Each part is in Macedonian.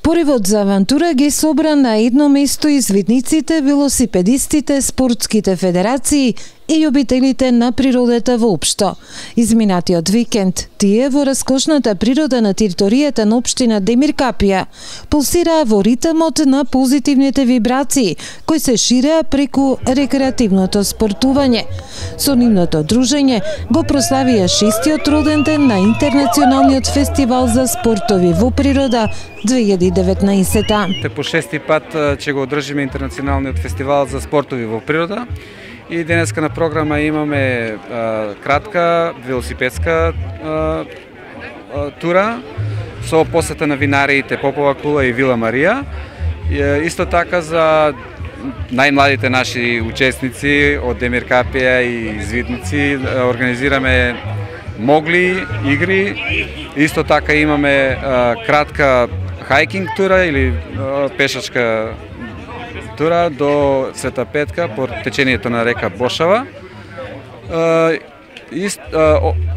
Поривот за авантура ги собра на едно место извидниците, велосипедистите, спортските федерации и љубителите на природата воопшто. Изминатиот викенд, тие во раскошната природа на територијата на општина Демиркапија пулсираа во ритмот на позитивните вибрации, кои се ширеа преку рекреативното спортување. Со нивното дружење го прославија 6-тиот роден ден на Интернационалниот фестивал за спортови во природа 2019. По 6-ти пат ќе го одржиме Интернационалниот фестивал за спортови во природа. И денеска на програма имаме кратка велосипедска тура со посета на винариите Попова кула и Вила Марија. Исто така за најмладите наши учесници од Демиркапија и извидници организираме могли игри. Исто така имаме кратка хайкинг тура или пешачка тура до Света Петка по течението на река Бошава.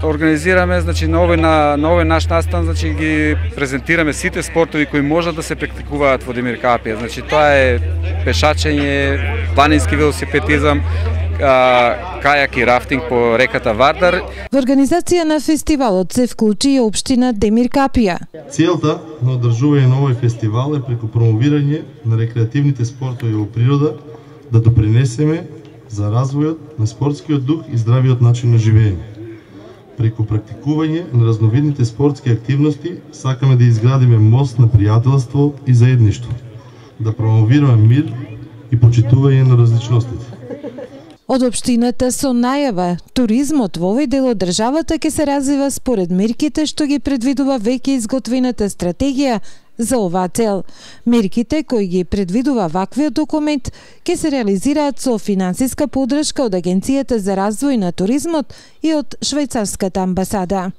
Организираме, значи, на овој наш настан, значи, ги презентираме сите спортови кои можат да се практикуваат во Демиркапија. Значи, тоа е пешачење, планински велосипедизам, кајак и рафтинг по реката Вардар. Во организација на фестивалот се вклучи и општина Демиркапија. Целта на одржување на овој фестивал е преку промовирање на рекреативните спортови во природа да допринесеме за развојот на спортскиот дух и здравиот начин на живење. Преку практикување на разновидните спортски активности сакаме да изградиме мост на пријателство и заедништво, да промовираме мир и почитување на различностите. Од општината со најава, туризмот во овој дел од државата ќе се развива според мерките што ги предвидува веќе изготвената стратегија за оваа цел. Мерките кои ги предвидува ваквиот документ ќе се реализираат со финансиска поддршка од Агенцијата за развој на туризмот и од Швајцарската амбасада.